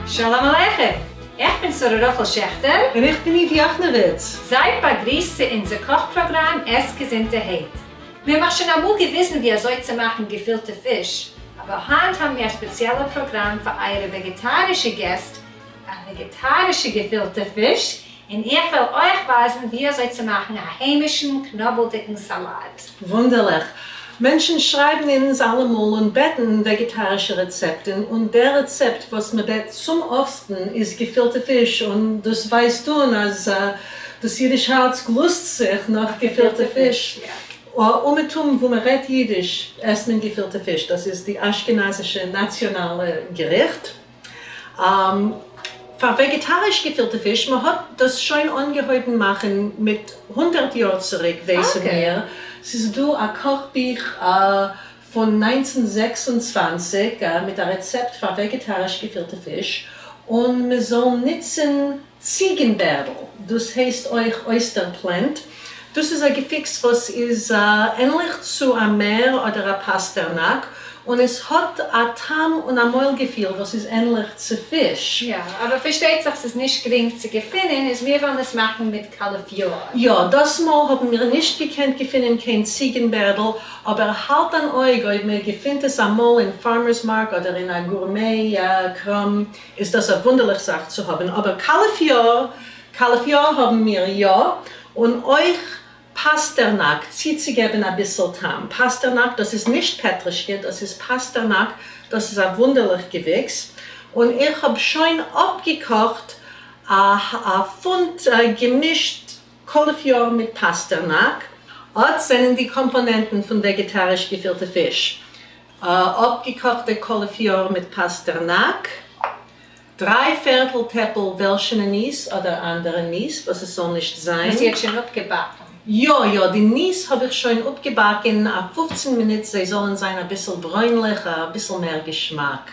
שלום עליכם! איך בין שרה רחל שעכטער. און איך בין איוו יאכנעוויץ. זייט באגריסט צו אונזער קאך פראגראם עס געזונטערהייט. מיר האבן אייך שוין אמאל געוויזן ווי אזוי צו מאכן געפילטע פיש, אבער היינט האבן מיר א ספעציעלע פראגראם פאר אייערע וועגעטארישע געסט, א וועגעטארישע געפילטע פיש, און איך וועל אייך ווייזן ווי אזוי צו מאכן א היימישן קנאבלדיגן סאלאט. וואונדערליך. מענטשן שרייבן אונז אלעמאל און בעטן וועגעטארישע רעצעפטן, און דער רעצעפט וואס מען בעט צום אפטסטן איז געפילטע פיש, און דאס ווייזט אן אז דאס אידיש הארץ גלוסט זיך נאך געפילטע פיש. אומעטום וואו מען רעדט אידיש עסט מען געפילטע פיש, דאס איז די אשכנזישע נאציאנאלע געריכט. פאר וועגעטאריש געפילטע פיש, מען האט דאס שוין אנגעהויבן מאכן מיט הונדערט יאר צוריק ווייסן מיר, ס'איז דא א קאכבוך פון 1926 מיט א רעצעפט פאר וועגעטאריש געפילטע פיש, און מען זאל נוצן ציגנבערדל, דאס הייסט אויך oyster plant, דאס איז א געוויקס וואס איז ענליך צו א מער אדער א פאסטערנאק, און עס האט א טעם און א מויל געפיל וואס איז ענליך צו פיש. יא, אבער פארשטייט זיך ס'איז נישט גרינג צו געפינען, איז מיר וועלן עס מאכן מיט קאליפיאר. יא, דאס מאל האבן מיר נישט געקענט געפינען קיין ציגנבערדל, אבער האלט אן אויג אויב מען געפינט עס אמאל אין farmers mark אדער אין א gourmet קראם, איז דאס א וואונדערליך זאך צו האבן, אבער קאליפיאר, קאליפיאר האבן מיר יא, און אויך פאסטערנאק, צוצוגעבן אביסל טעם. פאסטערנאק, דאס איז נישט פעטרישקע, דאס איז פאסטערנאק, דאס איז א וואונדערליך געוויקס, און איך האב שוין אפגעקאכט א פונט געמישט קאליפיאר מיט פאסטערנאק. אט זענען די קאמפאנענטן פון וועגעטאריש געפילטע פיש. אפגעקאכטע קאליפיאר מיט פאסטערנאק, דריי פערטל טעפל וועלשענע ניס אדער אנדערע ניס וואס עס זאל נישט זיין. וואס איר האט שוין אפגעבאקן. יא יא, די ניס האב איך שוין אפגעבאקן א 15 מינוט זיי זאלן זיין אביסל ברוינליך, אביסל מער געשמאק.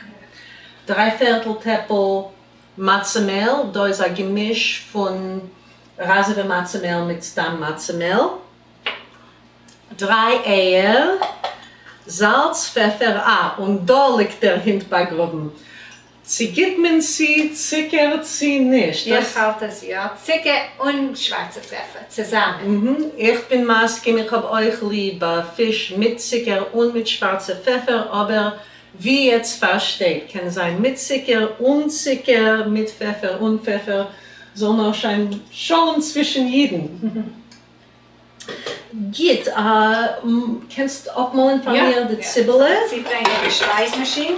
דריי פערטל טעפל מצה מעל, דא איז א געמיש פון ראזעווע מצה מעל מיט סתם מצה מעל. דריי אייער, זאלץ, פעפער, אה, און דא ליגט דער הינט באגראבן. צו גיט מען צו צוקער צו נישט? איך האלט אז יא, צוקער און שווארצע פעפער צוזאמען. איך בין מסכים, איך האב אויך ליב פיש מיט צוקער און מיט שווארצע פעפער, אבער ווי עטס פארשטייט קען זיין מיט צוקער, אן צוקער, מיט פעפער, אן פעפער, זאל נאר שיין שלום צווישן אידן. גוט, קענסט אפמאלן פאר מיר די ציבעלע? יא, צוברענגען די שפייז מאשין.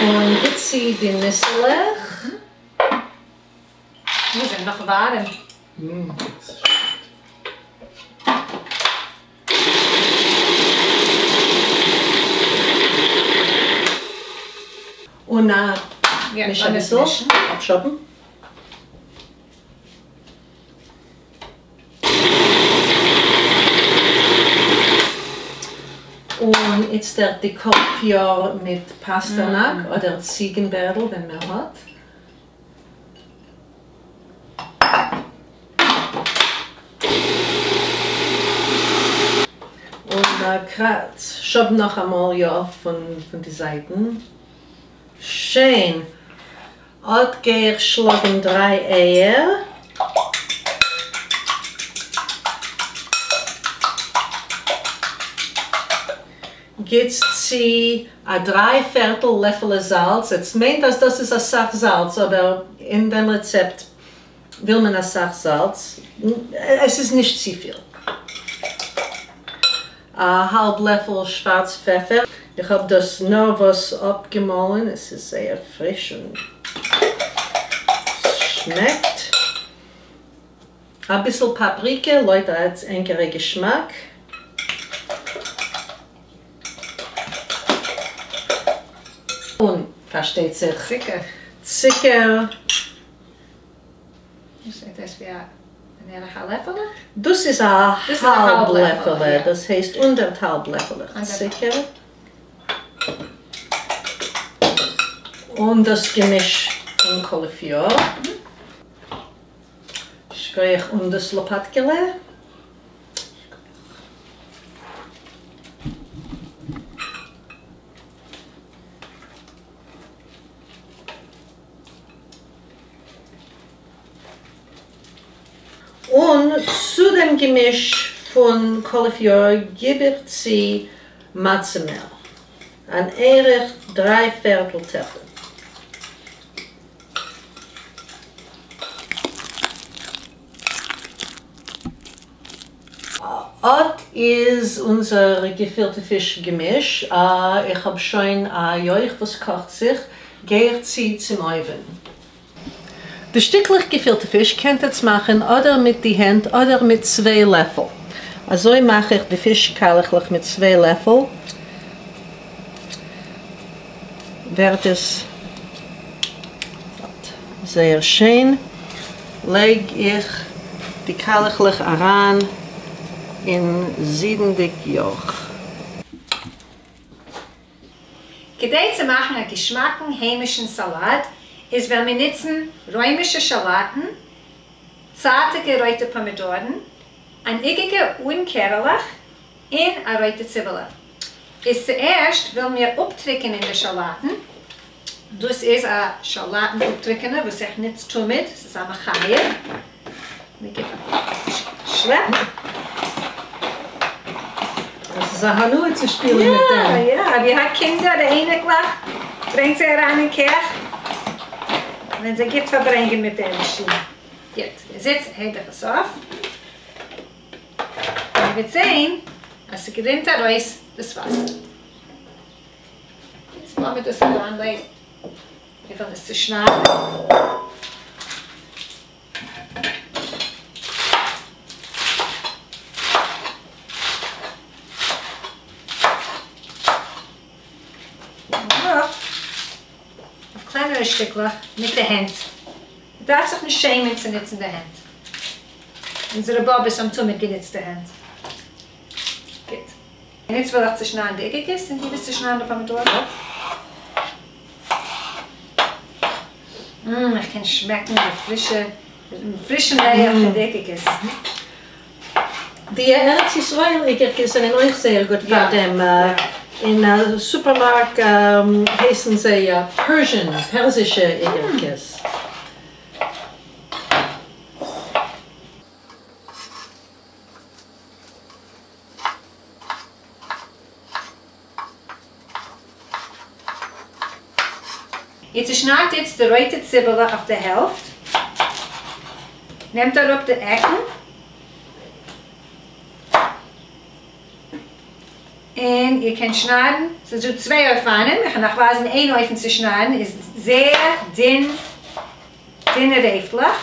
און גיט צו די ניסעלעך. די זענען נאך ווארעם. און מיש אביסל, אפשאבן. און איצטערט די קאליפיאר מיט פאסטערנאק אדער ציגנבערדל ווען מען האט. און קראץ שאב נאכאמאל יא פון די זייטן. שיין! אט גיי איך שלאגן דריי אייער. גיטס צו א דריי פערטל לעפעלע זאלץ, עטס מיינט אז דאס איז אסאך זאלץ אבער אין דעם רעצעפט וויל מען אסאך זאלץ, עס איז נישט צופיל. א האלב לעפל שווארץ פעפער, איך האב דאס נארוואס אפגעמאלן, עס איז זייער פריש און שמעקט. אביסל פאפריקע לויט ענקערע געשמאק. און פארשטייט זיך צוקער. צוקער. דאס זעט אויס ווי א בערך א לעפעלע? דאס איז א האלב לעפעלע, דאס הייסט אנדערטהאלב לעפעלעך צוקער. און דאס געמיש פון קאליפיאר. שכוח און דאס לאפאטקעלע. און צו דעם געמיש פון קאליפיאר גיב איך צו מצה מעל, אן ערך דריי פערטל טעפל. אט איז אונזער געפילטע פיש געמיש, איך האב שוין א יויך וואס קאכט זיך, גיי איך צו צום אויווען. די שטיקלעך געפילטע פיש קענט עטס מאכן אדער מיט די הענט אדער מיט צוויי לעפל. אזוי מאך איך די פיש קיילעכלעך מיט צוויי לעפל ווערט עס זייער שיין. לייג איך די קיילעכלעך אריין אין זידנדיג יויך. כדי צו מאכן א געשמאקן היימישן סאלאט איז וועלן מיר נוצן רוימישע שאלאטן, צייטיגע רויטע פאמידארן, אן איגערקע אן קערעלעך, און א רויטע ציבעלע. איז צוערשט ווילן מיר אפטריקענען די שאלאטן, דאס איז א שאלאטן אפטריקענער וואס איך נוץ תמיד, ס'איז א מחיה, מ'גיבט א שלעפ. עס איז א הנאה צו שפילן מיט דעם. יא יא, אויב איר האט קינדער אדער אייניקלעך, ברענגט זיי אריין אין קיך, וועלן זיי גוט פארברענגען מיט דער מאשין. גוט, איז איצט הייב איך עס אויף, און איר וועט זען אז ס'גרינט ארויס דאס וואסער. יעצט לאמיר דאס אריינלייגן, מיר וועלן עס צושניידן. אויף קלענערע שטיקלעך מיט די הענט. מען דארף זיך נישט שעמען צו נוצן די הענט. אונזערע באבעס האבן תמיד גענוצט די הענט. גוט. און איצט וועל איך צושניידן די אוגערקעס און דו וועסט צושניידן די פאמידארן. מ, איך קען שמעקן די פרישע, פרישן ריח פון די אוגערקעס. די ארץ ישראל איגערקעס זענען אויך זייער גוט פאר דעם. אין סופערמארק הייסן זיי Persian, פערסישע איגערקעס. איר צעשניידט איצט די רויטע ציבעלע אויף די העלפט, נעמט אראפ די עקן, און איר קענט שניידן, ס'איז דא צוויי אופנים, איך וועל נאך ווייזן איין אופן צו שניידן, איז זייער דין, דינע רעפלעך,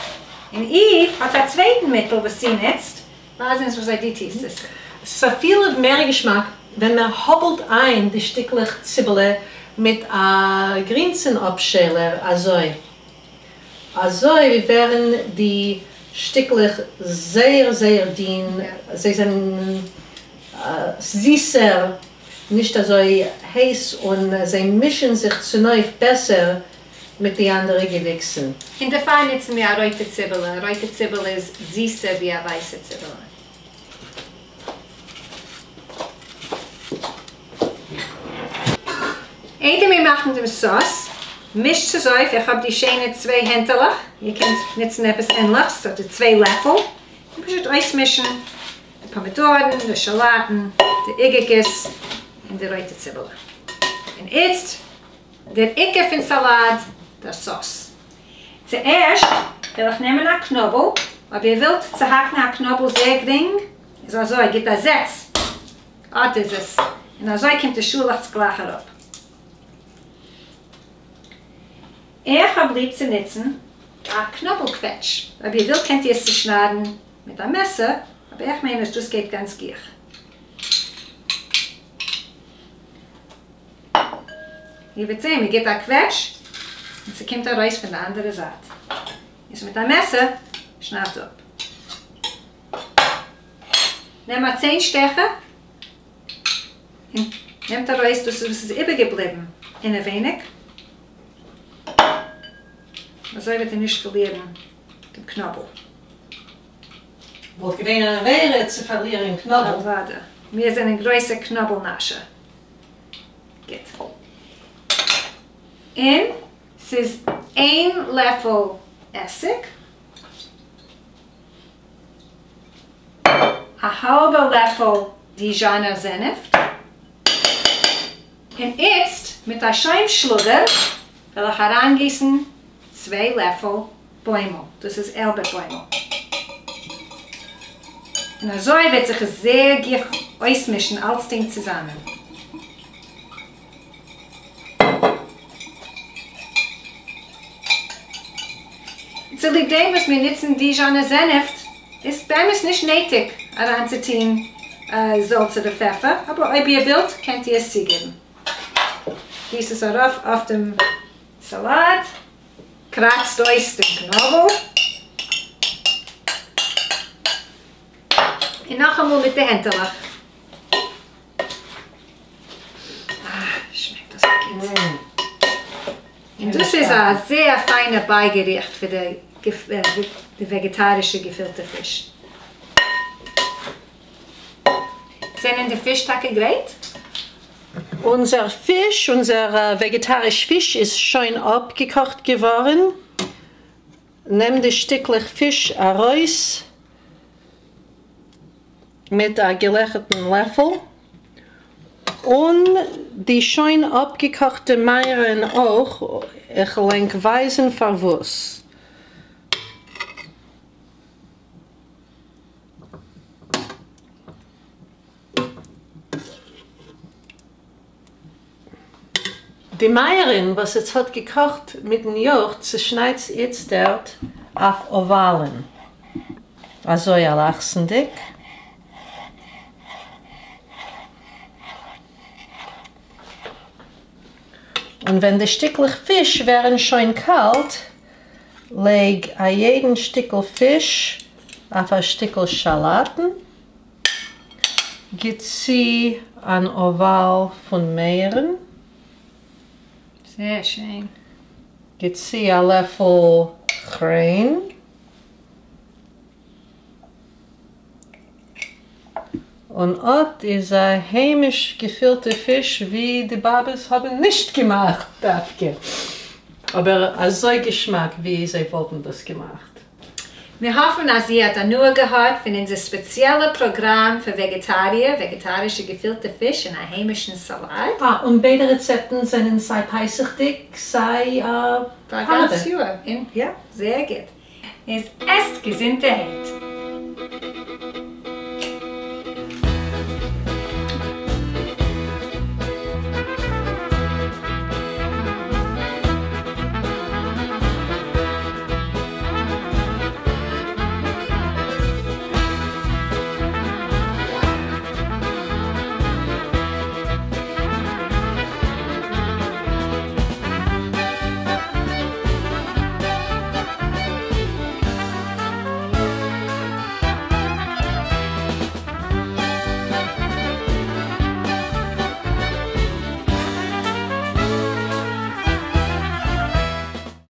און איוו האט א צווייטן מיטל וואס זי נוצט, ווייז אונז וויאזוי דו טוסט עס. עס איז אפילו מער געשמאק ווען מען האבלט איין די שטיקלעך ציבעלע מיט א גרינסן אפשיילער אזוי. אזוי ווערן די שטיקלעך זייער זייער דין, זיי זענען זיסער, נישט אזוי הייס און זיי מישן זיך צונויף בעסער מיט די אנדערע געוויקסן. און דערפאר נוצן מיר א רויטע ציבעלע, א רויטע ציבעלע איז זיסער ווי א ווייסע ציבעלע. איידער מיר מאכן דעם סאוס, מישט עס אויף, איך האב די שיינע צוויי הענטעלעך, איר קענט נוצן עפעס ענליכס, אדער צוויי לעפל, און פשוט אויסמישן די פאמידארן, די שאלאטן, די איגערקעס, און די רויטע ציבעלע. און איצט דער עיקר פון סאלאט, דער סאוס. צוערשט וועל איך נעמען א קנאבל, אויב איר ווילט צוהאקן א קנאבל זייער גרינג, איז אזוי, גיט א זעץ, אט איז עס, און אזוי קומט די שאלעכץ גלייך אראפ. איך האב ליב צו נוצן א קנאבל קוועטש, אויב איר ווילט קענט איר עס צושניידן מיט א מעסער, אבער איך מיין אז דאס גייט גאנץ גיך. איר וועט זען, מען גיט א קוועטש און ס'קומט ארויס פון די אנדערע זייט. איז מיט א מעסער, שניידט אפ. נעם א ציין שטעכער און נעמט ארויס דאס וואס איז איבערגעבליבן אינעווייניג. אזוי וועט איר נישט פארלירן דעם קנאבל. וואלט געווען אן עבירה צו פארלירן קנאבל. אוודאי. מיר זענען גרויסע קנאבל נאשער. גוט. און ס'איז איין לעפל עסיג. א האלבע לעפל דיזשאנער זענעפט. און איצט, מיט א שוים שלאגער, וועל איך אריינגיסן צוויי לעפל בוימל, דאס איז איילבערט בוימל. און אזוי וועט זיך עס זייער גיך אויסמישן אלצדינג צוזאמען. צוליב דעם וואס מיר נוצן דיזשאנער זענעפט, איז באמת נישט נעטיג אריינצוטוהן זאלץ אדער פעפער, אבער אויב איר ווילט קענט איר עס צוגעבן. גיס עס ארויף אויף דעם סאלאט, קראצט אויס דעם קנאבל, און נאכאמאל מיט די הענטעלעך. אה, שמעקט דאס גוט. און דאס איז א זייער פיינע בייגעריכט פאר די וועגעטארישע געפילטע פיש. זענען די פיש טאקע גרייט? אונזער פיש, אונזער וועגעטאריש פיש איז שוין אפגעקאכט געווארן. נעם די שטיקלעך פיש ארויס מיט א געלעכערטן לעפל, און די שוין אפגעקאכטע מייערן אויך, איך וועל ענק ווייזן פארוואס. די מייערן וואס עטס האט געקאכט מיטן יאכט צושניידטס איצטערט אויף אוואלן, אזוי אלכסונ'דיג. און ווען די שטיקלעך פיש ווערן שוין קאלט, לייג א יעדן שטיקל פיש אויף א שטיקל שאלאטן. גיט צו אן אוואל פון מייערן. זייער שיין. גיט צו א לעפל כריין. און אט איז א היימיש געפילטע פיש ווי די באבעס האבן נישט געמאכט דווקא, אבער אזוי געשמאק ווי זיי וואלטן דאס געמאכט. מיר האפן אז איר האט הנאה געהאט פון אונזער ספעציעלע פראגראם פאר וועגעטאריער, וועגעטארישע געפילטע פיש און א היימישן סאלאט. אה, און ביידע רעצעפטן זענען סיי פסח'דיג סיי פאר א גאנץ יאר. יא, זייער גוט. איז עסט געזונטערהייט.